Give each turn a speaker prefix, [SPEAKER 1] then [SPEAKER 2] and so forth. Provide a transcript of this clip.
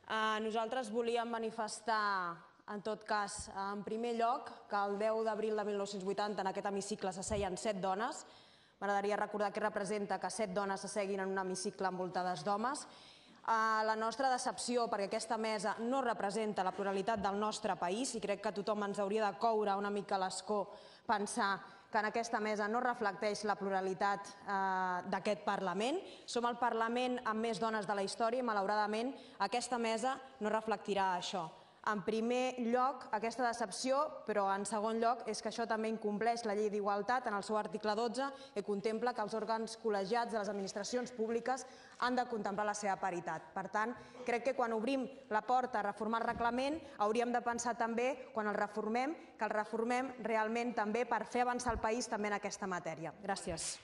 [SPEAKER 1] Nosaltres volíem manifestar, en tot cas, en primer lloc, que el 10 d'abril de 1980 en aquest hemicicle s'asseien 7 dones. M'agradaria recordar què representa que 7 dones s'asseguin en un hemicicle envoltades d'homes. La nostra decepció, perquè aquesta mesa no representa la pluralitat del nostre país i crec que tothom ens hauria de coure una mica l'escó pensar que en aquesta mesa no reflecteix la pluralitat d'aquest Parlament. Som el Parlament amb més dones de la història i, malauradament, aquesta mesa no reflectirà això. En primer lloc, aquesta decepció, però en segon lloc és que això també incompleix la llei d'igualtat en el seu article 12, que contempla que els òrgans col·legiats de les administracions públiques han de contemplar la seva paritat. Per tant, crec que quan obrim la porta a reformar el reglament hauríem de pensar també, quan el reformem, que el reformem realment també per fer avançar el país també en aquesta matèria. Gràcies.